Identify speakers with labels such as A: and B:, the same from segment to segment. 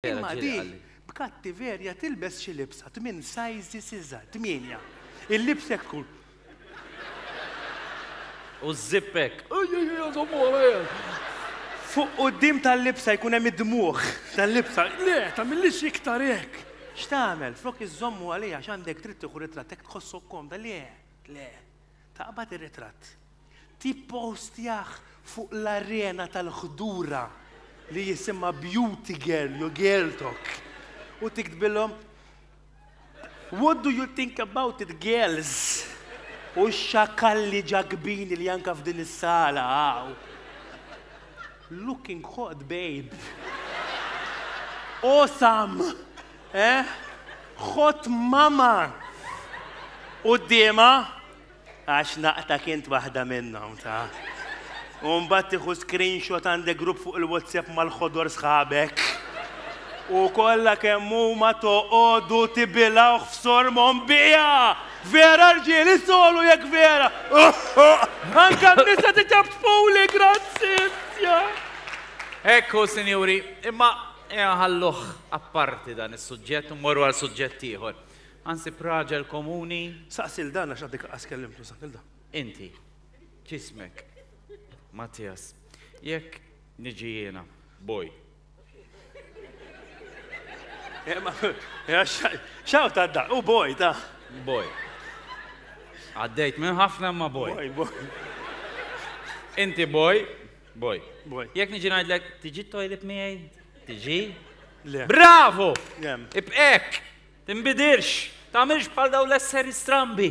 A: Imma di b'kattiverja tilbes xi libsa tminn sizes iżgħar, tmienja. Il-libsa hekk tkun.
B: U ż-zip hekk.
A: Fuq quddiem tal-libsa jkun hemm id-dmugħ tal-libsa.
C: Le, tagħmillix iktar hekk.
A: X'tagħmel? Flok iżżommu għaliha għax għandek dritt tieħu ritratt hekk tħossok komda. Le, le. Taqbad ir-ritratt. Tippostjah fuq l-arena tal-ħdura li jisimha Beauty Girl jew Girl Talk u tiktbilhom What do you think about it girls? U x-xakalli ġakbini li anka f'din is-sala hawn. Looking hot babe. Awesome! Eh? Hot mama! Quddiemha Għax naqtak int waħda minnhom, ta. U mbagħad tieħu screenshot għandek grupp fuq il-WhatsApp mal-ħodor sħabek. U kollha kemm huma toqogħdu tibilgħuh f'sormhom bija! Vera rġiel, isolu jekk vera! Anka n-nisa tiċapċpuli, grazzi!
B: Hekk hu, sinjuri, imma ejja nħalluh apparti dan is-suġġett u mmorru għal suġġett ieħor. Ħa nsib raġel komuni.
A: Saqsi 'l dan għax għadek lanqas kellimtu, saqsi 'l dan.
B: Inti, x'ismek? Mattias. Jekk niġi jiena, boy.
A: X'hawn ta' da? U boy ta'.
B: Boy. Għaddejt minn ħafna imma boy.
A: Boy, boy.
B: Inti boy, boy.
A: Boy.
B: Jekk niġi ngħidlek, tiġi t-toilet miegħi? Tiġi?
A: Le.
B: Bravo!
A: Le.
B: Ibqek! Tinbidilx! Tagħmilx bħal dawn l-esseri strambi!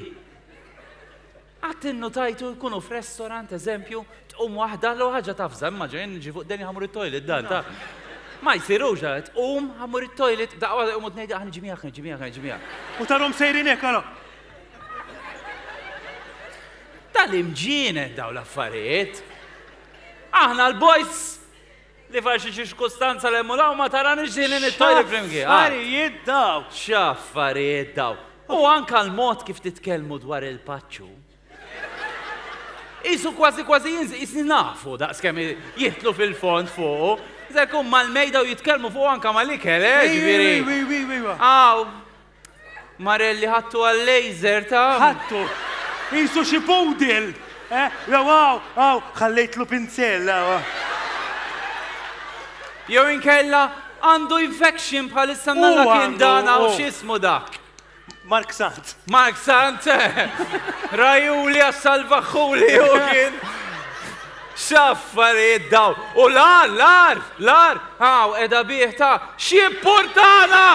B: Qatt innutajtu jkunu f'restorant, eżempju, tqum waħda l ħaġa tafża, immaġina jien niġi fuq deni ħamur it-toilet dan ta' Ma jsirux, tqum ħamur it-toilet, daqqa waħda jqumu tnejn ħa niġi miegħek, niġi miegħek, niġi miegħek.
A: U tarhom sejrin hekk ara.
B: Tal-imġienen dawn l-affarijiet. Aħna l-boys Li far xi ċirkustanza l-hemm u l-hawn ma taranix din it-toilet flimkien.
A: X'affarijiet daw!
B: X'affarijiet daw! U anka l-mod kif titkellmu dwar il-paċċu. Qisu kważi kważi jinżel, qisni nafu daqskemm jidħlu fil-fond fuqu. Se jkun mal-mejda u jitkellmu fuqu anka mal-ikel, eh, ġifieri. Aw, Marelli ħadtu għal-laser ta'.
A: Ħadtu. Qisu xi poodle. Eh, jew hawn, hawn, ħallejtlu pinzell, hawn.
B: Jew inkella għandu infection bħalissa mnalla kien dan hawn x'ismu dak.
A: Mark Sant.
B: Mark Sant. Rajuli għas-salvaħħuli u kien. X'affarijiet dawn! U l-agħar, l-agħar, l-agħar, hawn qiegħda bih ta' x'jippurtana!